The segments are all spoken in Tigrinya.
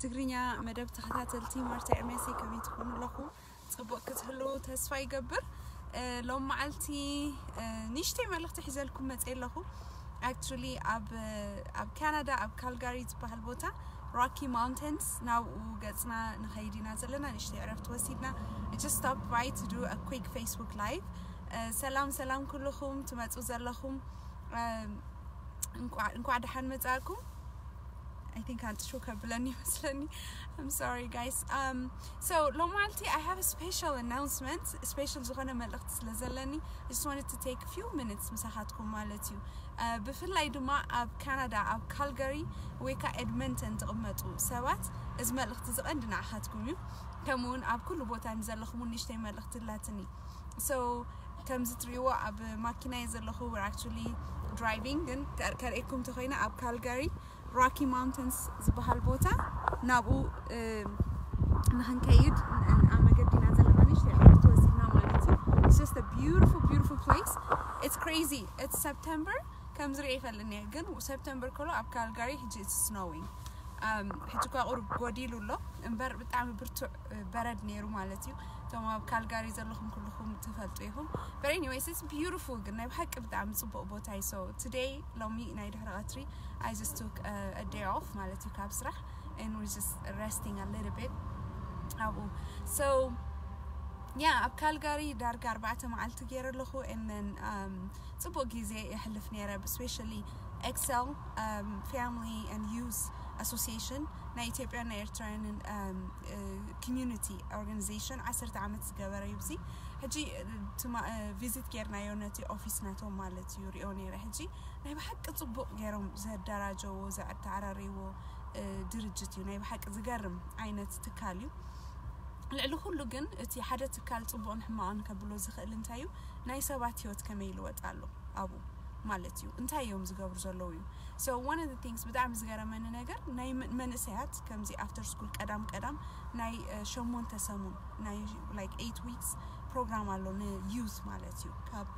ትግርኛ መደብ ተኸታተልቲ፣ ማርታ ኤርሜሲ፣ ከመይ ትኾኑ ኣለኹ? ጽቡቕ ክትህሉ ተስፋ ይገብር። ሎም መዓልቲ ንእሽተይ መልእኽቲ ሒዘልኩም መጽእ ኣለኹ። Actually ኣብ ኣብ ካናዳ ኣብ ካልጋሪ ዝበሃል ቦታ ሮኪ ማውንቴንስ ናብኡ ገጽና ንኸይድ ኢና ዘለና። ንእሽተይ ዕረፍቲ ወሲድና just stop by to do a quick Facebook live. ሰላም ሰላም ኩልኹም ትመጹ ዘለኹም፣ እንኳዕ ደሓን መጻእኩም። I think ኣንጥሹ ከብለኒ ይመስለኒ። I'm sorry guys. Um so ሎማልቲ I have a special announcement, special ዝኾነ መልእኽቲ ስለ ዘለኒ just wanted to take few minutes ምሳኻትኩም ማለት እዩ። ብፍላይ ድማ ኣብ ካናዳ ኣብ ካልጋሪ ወይ ከዓ ኤድመንተን ትቕመጡ ሰባት እዚ መልእኽቲ ዝቐንዲ ንዓኻትኩም እዩ። ከምኡውን ኣብ ኩሉ ቦታ ንዘለኹም ንእሽተይ መልእኽቲ ላትኒ። So ከምዚ ትሪእዎ ኣብ ማኪና እየ ዘለኹ። We're actually driving፣ ግን ከርእየኩም ተኮይነ ኣብ ካልጋሪ ሮኪ ማውንተንስ ዝበሃል ቦታ ናብኡ ንክንከይድ ኣብ መገዲና ዘለና። ንእሽተይ ዕረፍቲ ወሲድና ማለት እዩ። It's just a beautiful, beautiful place. It's crazy. It's September። ከም ዝሪኦ ይፈልኒ፣ ግን ሰፕተምበር ከሎ ኣብ ካልጋሪ ሕጂ it's snowing። ሕጂ እኳ ቁሩብ ጎዲሉ ኣሎ እምበር ብጣዕሚ ብርቱዕ በረድ ነይሩ ማለት እዩ። እቶም ኣብ ካልጋሪ ዘለኹም ኩልኹም ትፈልጡ ኢኹም። But anyways, it's beautiful። ግን ናይ ብሓቂ ብጣዕሚ ጽቡቕ ቦታ እዩ። So today፣ ሎሚ ናይ ድሕሪ ቀትሪ፣ I just took a day off ማለት እዩ ካብ ስራሕ and we're just resting a little bit ኣብኡ። So yeah፣ ኣብ ካልጋሪ ዳርጋ ኣርባዕተ መዓልቲ ገይረ ኣለኹ። And then ጽቡቕ ግዜ የሕልፍ ነይረ። Especially Excel Family and Youth Association፣ ናይ ኢትዮጵያን ናይ ኤርትራውያንን community organization፣ ዓሰርተ ዓመት ዝገበረ እዩ። እዚ ሕጂ ቪዚት ጌርናዮ ነቲ ኦፊስ ናቶም ማለት እዩ፣ ሪኦ ነይረ። ሕጂ ናይ ብሓቂ ጽቡቕ ገይሮም ዘደራጀዎ ዘተዓራረይዎ ድርጅት እዩ። ናይ ብሓቂ ዝገርም ዓይነት ትካል እዩ። ልዕሊ ኩሉ ግን እቲ ሓደ ትካል ጽቡቕን ሕማቕን ከብሎ ዝኽእል እንታይ እዩ? ናይ ሰባት ህይወት ከመይ ይልወጥ ኣሎ ኣብኡ ማለት እዩ። እንታይ እዮም ዝገብሩ ዘለዉ እዩ። So one of the things ብጣዕሚ ዝገረመኒ ነገር ናይ መንእሰያት ከምዚ after school ቀዳም ቀዳም ናይ ሸሞንተ ሰሙን ናይ like eight weeks ፕሮግራም ኣሎ ን youth ማለት እዩ። ካብ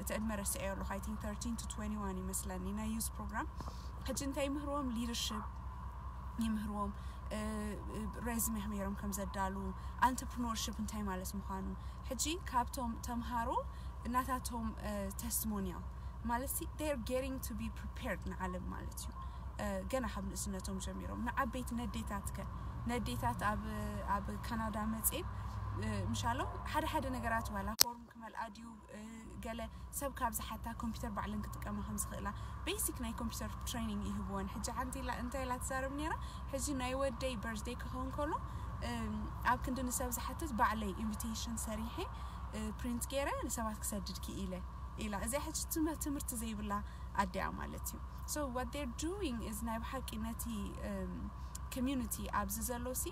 እቲ ዕድመ ረስዐዮ ኣለኹ፣ I think thirteen to twenty-one ይመስለኒ ናይ youth ፕሮግራም። ሕጂ እንታይ ይምህርዎም? Leadership ይምህርዎም፣ ሬዝሜ ከመይ ከም ዘዳሉ፣ entrepreneurship እንታይ ማለት ምዃኑ። ሕጂ ካብቶም ተምሃሮ እናታቶም testimonial ማለት they're getting to be prepared ንዓለም ማለት እዩ። ገና ካብ ንእስነቶም ጀሚሮም ንዓበይቲ ነዴታትከ ነዴታት ኣብ ኣብ ካናዳ መጽኤ ምሻሎም ሓደ ሓደ ነገራት ዋላ ፎርም ክመልኣ ድዩ፣ ገለ ሰብ ካብ ዝሓታ ኮምፒውተር ባዕለን ክጥቀማ ከም ዝኽእላ ቤሲክ ናይ ኮምፒውተር ትሬኒንግ ይህብወን። ሕጂ ሓንቲ ኢላ እንታይ ኢላ ትዛረብ ነይራ? ሕጂ ናይ ወደይ በርዝደይ ክኸውን ከሎ ኣብ ክንዲ ንሰብ ዝሓትት ባዕለይ ኢንቪቴሽን ሰሪሐ ፕሪንት ገይረ ንሰባት ክሰድድ ክኢለ ኢላ። እዚኣ ሕጂ ትምህርቲ ዘይብላ ኣዲኣ ማለት እዩ። So what they're doing is ናይ ብሓቂ ነቲ community ኣብዚ ዘሎ ሲ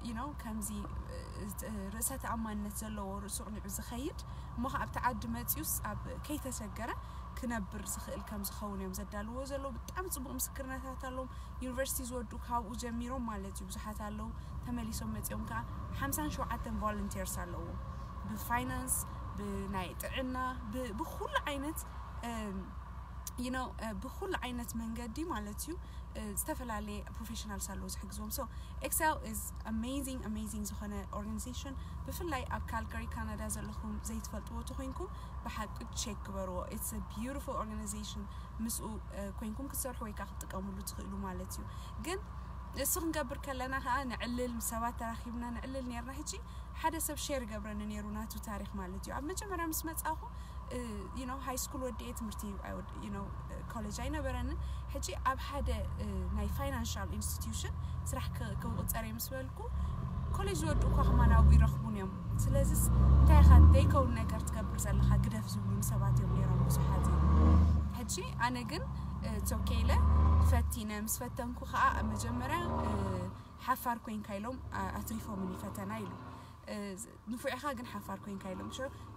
you know ከምዚ ርእሰ ተኣማንነት ዘለዎ ርእሱ ቅኒዑ ዝኸይድ እሞ ከ ኣብቲ ዓዲ መፂኡስ ኣብ ከይተሰገረ ክነብር ዝኽእል ከም ዝኸውን እዮም ዘዳልዎ ዘለዉ። ብጣዕሚ ፅቡቕ ምስክርነታት ኣለዎም። ዩኒቨርሲቲ ዝወዱ ካብኡ ጀሚሮም ማለት እዩ ብዙሓት ኣለዉ። ተመሊሶም መፂኦም ከዓ ሓምሳን ሸውዓተን volunteers ኣለዉ። ብፋይናንስ፣ ብናይ ጥዕና፣ ብኩሉ ዓይነት you know ብኩሉ ዓይነት መንገዲ ማለት እዩ። ዝተፈላለየ ፕሮፌሽናልስ ኣለዉ ዝሕግዝዎም። So Excel is amazing, amazing ዝኾነ organization። ብፍላይ ኣብ ካልጋሪ ካናዳ ዘለኹም ዘይትፈልጥዎ ተኮይንኩም ብሓቂ ቸክ ግበርዎ። It's a beautiful organization። ምስኡ ኮይንኩም ክትሰርሑ ወይ ከዓ ክትጥቀምሉ ትኽእሉ ማለት እዩ። ግን እሱ ክንገብር ከለና ከዓ ንዕልል፣ ምስ ሰባት ተራኺብና ንዕልል ነርና። ሕጂ ሓደ ሰብ ሼር ይገብረኒ ነይሩ ናቱ ታሪክ ማለት እዩ። ኣብ መጀመርያ ምስ መጻኹ you know ሃይ ስኩል ወዲኤ ትምህርቲ you know ኮሌጅ ኣይነበረንን። ሕጂ ኣብ ሓደ ናይ ፋይናንሻል ኢንስቲትዩሽን ስራሕ ክቕፀር እየ ምስ በልኩ ኮሌጅ ዝወዱ እኳ ከማን ኣብኡ ይረኽቡን እዮም። ስለዚስ እንታይ ኢኻ ዘይከውን ነገር ትገብር ዘለኻ ግደፍ ዝብሉን ሰባት እዮም ነይሮም ብዙሓት እዮም። ሕጂ ኣነ ግን ቶኬ ኢለ ፈቲነ ምስ ፈተንኩ ከዓ ኣብ መጀመርያ ሓፋር ኮይንካ ኢሎም ኣትሪፎምኒ ፈተና ኢሉ። ንፉዕ ኢኻ ግን ሓፋር ኮይንካ ኢሎም።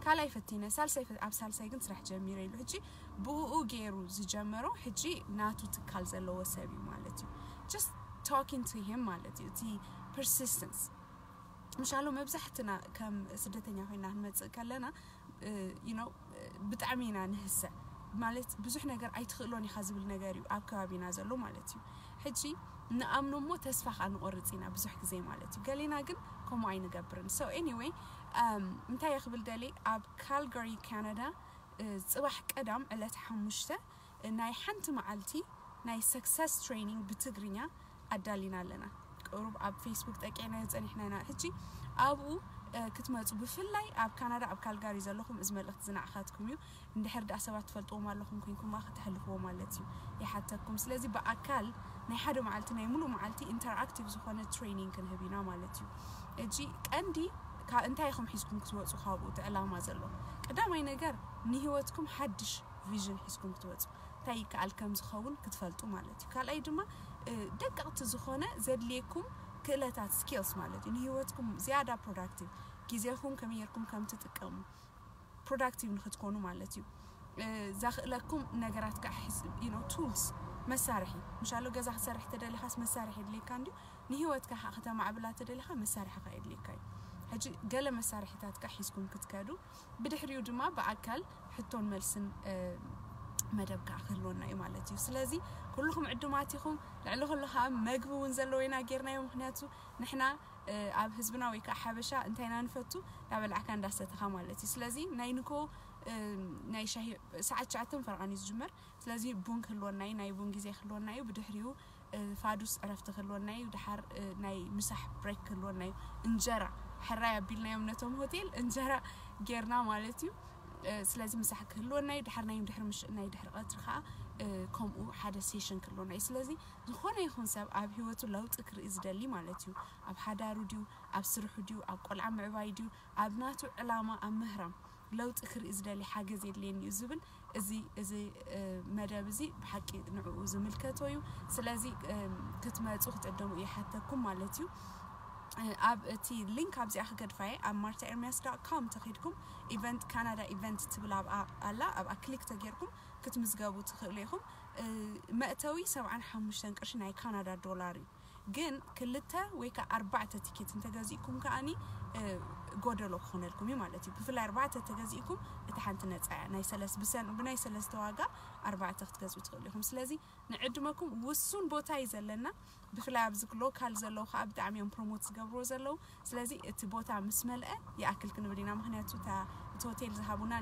ካልኣይ ፈቲነ ሳልሳይ ኣብ ሳልሳይ ግን ስራሕ ጀሚረ ኢሉ። ሕጂ ብኡ ገይሩ ዝጀመሮ ሕጂ ናቱ ትካል ዘለዎ ሰብ እዩ ማለት እዩ። Just talking to him ማለት እዩ። እቲ persistence ምሻሎ መብዛሕትና ከም ስደተኛ ኮይና ክንመፅእ ከለና you know ብጣዕሚ ኢና ንህሰ ማለት ብዙሕ ነገር ኣይትኽእሎን ኢኻ ዝብል ነገር እዩ ኣብ ከባቢና ዘሎ ማለት እዩ። ሕጂ ንኣምኖ እሞ ተስፋ ከዓ ንቆርፅ ኢና ብዙሕ ግዜ ማለት እዩ። ገሌና ግን ከምኡ ኣይንገብርን። So anyway እንታይ የኽብል ደሊ ኣብ ካልጋሪ ካናዳ ጽባሕ ቀዳም ዕለት ሓሙሽተ ናይ ሓንቲ መዓልቲ ናይ success training ብትግርኛ ኣዳሊና ኣለና። ቅሩብ ኣብ ፌስቡክ ጠቂዕናዮ ጸኒሕና ኢና። ሕጂ ኣብኡ ክትመፁ ብፍላይ ኣብ ካናዳ ኣብ ካልጋሪ ዘለኹም እዚ መልእኽቲ ዝንዓኻትኩም እዩ። እንድሕር ደኣ ሰባት ትፈልጥዎም ኣለኹም ኮይንኩም ከተሕልፍዎ ማለት እዩ ይሓተኩም። ስለዚ ብኣካል ናይ ሓደ መዓልቲ ናይ ሙሉእ መዓልቲ interactive ዝኾነ training ክንህብ ኢና ማለት እዩ። እጂ ቀንዲ እንታይ ኢኹም ሒዝኩም ክትወፁ ካብኡ እቲ ዕላማ ዘሎ ቀዳማይ ነገር ንህይወትኩም ሓድሽ vision ሒዝኩም ክትወፁ እንታይ ይከኣል ከም ዝኸውን ክትፈልጡ ማለት እዩ። ካልኣይ ድማ ደቀቕቲ ዝኾነ ዘድልየኩም ክእለታት skills ማለት እዩ። ንህይወትኩም ዝያዳ productive ግዜኹም ከመይ ጌርኩም ከም ትጥቀሙ productive ንክትኮኑ ማለት እዩ። ዘኽእለኩም ነገራት ከዓ tools መሳርሒ ምሻሎ ገዛ ክሰርሕ ተደሊኻስ መሳርሒ የድልየካ እንዲዩ ንህይወትካ ከዓ ከተማዕብላ ተደሊኻ መሳርሒ ከዓ የድልየካ እዩ። ሕጂ ገለ መሳርሒታት ከዓ ሒዝኩም ክትከዱ ብድሕሪኡ ድማ ብኣካል ሕቶን መልስን መደብ ከዓ ክህልወና እዩ ማለት እዩ። ስለዚ ኩልኹም ዕዱማት ኢኹም። ልዕሊ ኩሉ ከዓ መግቢ እውን ዘለዎ ኢና ጌርናዮ። ምክንያቱ ንሕና ኣብ ህዝብና ወይ ከዓ ሓበሻ እንታይ ኢና ንፈቱ? እንዳበላዕካ እንዳሰተኻ ማለት እዩ። ስለዚ ናይ ንኮ ናይ ሻሂ ሰዓት ትሽዓተ ፈረቓን እዩ ዝጅመር። ስለዚ ቡን ክህልወና እዩ፣ ናይ ቡን ግዜ ክህልወና እዩ። ብድሕሪኡ ፋዱስ ዕረፍቲ ክህልወና እዩ። ድሓር ናይ ምሳሕ break ክህልወና እዩ። እንጀራ ሕራይ ኣቢልናዮም ነቶም ሆቴል እንጀራ ጌርና ማለት እዩ። ስለዚ ምሳሕ ክህልወና እዩ። ድሓር ናይ ድሕሪ ምሽ ናይ ድሕሪ ቀትሪ ከዓ ከምኡ ሓደ session ክህልወና እዩ። ስለዚ ዝኾነ ይኹን ሰብ ኣብ ህይወቱ ለውጢ ክርኢ ዝደሊ ማለት እዩ። ኣብ ሓዳሩ ድዩ፣ ኣብ ስርሑ ድዩ፣ ኣብ ቆልዓ ምዕባይ ድዩ፣ ኣብ ናቱ ዕላማ ኣብ ምህራም ለውጢ ክርኢ ዝደሊ ሓገዝ የድልየኒ እዩ ዝብል እዚ እዚ መደብ እዚ ብሓቂ ንዕኡ ዝምልከቶ እዩ። ስለዚ ክትመፁ ክትዕደሙ ይሓተኩም ማለት እዩ። ኣብ እቲ link ኣብዚኣ ክገድፋ እየ ኣብ marthaermias.com ተኺድኩም event Canada event ትብል ኣብኣ ኣላ ኣብኣ click ተጌርኩም ክትምዝገቡ ትኽእሉ ኢኹም። መእተዊ ሰብዓን ሓሙሽተን ቅርሺ ናይ ካናዳ ዶላር እዩ። ግን ክልተ ወይ ከዓ ኣርባዕተ ቲኬት እንተገዚእኩም ከዓኒ ጎደሎ ክኾነልኩም እዩ ማለት እዩ። ብፍላይ ኣርባዕተ ተገዚእኩም እቲ ሓንቲ ነፃ እያ። ናይ ሰለስ ብሰን ብናይ ሰለስተ ዋጋ ኣርባዕተ ክትገዝኡ ትኽእሉ ኢኹም። ስለዚ ንዕድመኩም ውሱን ቦታ እዩ ዘለና። ብፍላይ ኣብዚ ሎካል ዘለዉ ከዓ ብጣዕሚ እዮም ፕሮሞት ዝገብርዎ ዘለዉ። ስለዚ እቲ ቦታ ምስ መልአ ይኣክል ክንብል ኢና። ምክንያቱ እቲ ሆቴል ዝሃቡና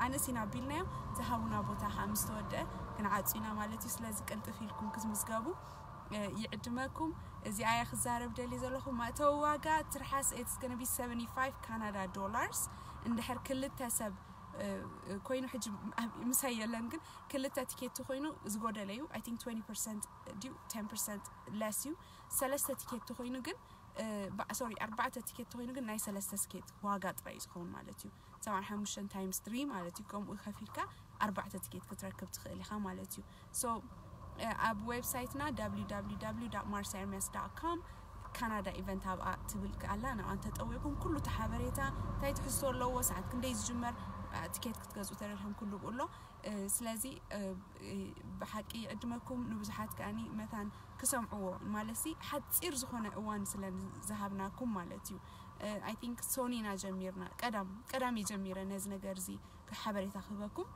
ኣነስ ኢና ኣቢልናዮ ዝሃቡና ቦታ ከዓ ምስ ተወደአ ክንዓፁ ኢና ማለት እዩ። ስለዚ ቅልጥፍ ኢልኩም ክትምዝገቡ ይዕድመኩም። እዚኣ እየ ክዛረብ ደልየ ዘለኹ። መእተዊ ዋጋ ትርሓስ it's gonna be seventy five Canada dollars እንድሕር ክልተ ሰብ ኮይኑ ሕጂ ምሳይ የለን ግን ክልተ ቲኬት ኮይኑ ዝጎደለ እዩ። I think twenty percent ድዩ ten percent less እዩ። ሰለስተ ቲኬት ኮይኑ ግን sorry ኣርባዕተ ቲኬት ኮይኑ ግን ናይ ሰለስተ ቲኬት ዋጋ ጥራይ እዩ ዝኸውን ማለት እዩ። ሰብዓን ሓሙሽተን times three ማለት እዩ። ከምኡ ከፊልካ ኣርባዕተ ቲኬት ክትረክብ ትኽእል ኢኻ ማለት እዩ። So ኣብ ዌብሳይትና www marthaermias.com ካናዳ event ኣብኣ ትብል ኣላ። ንኣ እንተጠዊቕኩም ኩሉ እቲ ሓበሬታ እንታይ ትሕዝቶ ኣለዎ፣ ሰዓት ክንደይ ዝጅመር፣ ትኬት ክትገዝኡ ተደልኩም ኩሉ ብኡ ኣሎ። ስለዚ ብሓቂ ይዕድመኩም። ንብዙሓት ከኣኒ መታን ክሰምዕዎ ማለት ሓፂር ዝኾነ እዋን ስለ ዝሃብናኩም ማለት እዩ። I think ሶኒ ኢና ጀሚርና ቀዳም ቀዳም እየ ጀሚረ ነዚ ነገር እዚ ሓበሬታ ክህበኩም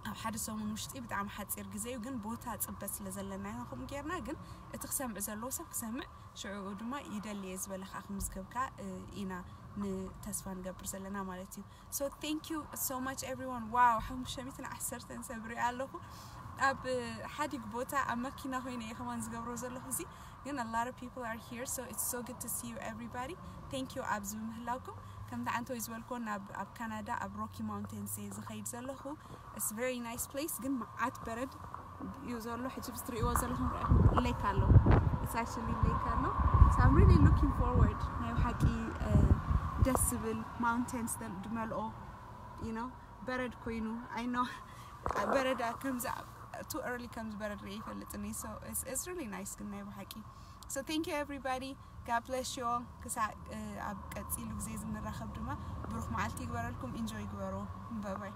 ኣብ ሓደ ሰሙን ውሽጢ ብጣዕሚ ሓፂር ግዜ እዩ፣ ግን ቦታ ፅበት ስለ ዘለና ኢና ከምኡ ጌርና። ግን እቲ ክሰምዕ ዘለዎ ሰብ ክሰምዕ ሽዕኡ ድማ ይደሊ እየ ዝበለ ከዓ ክምዝገብካ ኢና ንተስፋ ንገብር ዘለና ማለት እዩ። So thank you so much everyone። ዋው ሓሙሽተ ሚእትን ዓሰርተን ሰብ ሪኣ ኣለኹ ኣብ ሓዲግ ቦታ ኣብ መኪና ኮይነ እየ ከማን ዝገብሮ ዘለኹ እዚ ግን a lot of people are here so it's so good to see you everybody። Thank you ኣብዚ ብምህላውኩም። ከምቲ ዓንተወይ ዝበልኮ ናብ ኣብ ካናዳ ኣብ ሮኪ ማውንቴንስ እየ ዝኸይድ ዘለኹ። It's very nice place ግን መዓት በረድ እዩ ዘሎ። ሕጂ ብስ ትርእይዎ ዘለኹም ሌክ ኣሎ። It's actually ሌክ ኣሎ። So I'm really looking forward ናይ ብሓቂ ደስ ዝብል ማውንቴንስ ድመልኦ you know በረድ ኮይኑ I know በረድ ከምዚ too early ከምዚ በረድ ርኢ ይፈልጥኒ። So it's it's really nice ግን ናይ ብሓቂ። So thank you everybody. God bless you all. ክሳዕ ኣብ ቀፂሉ ግዜ ዝንራኸብ ድማ ብሩኽ መዓልቲ ይግበረልኩም። Enjoy ይግበሩ። Bye bye.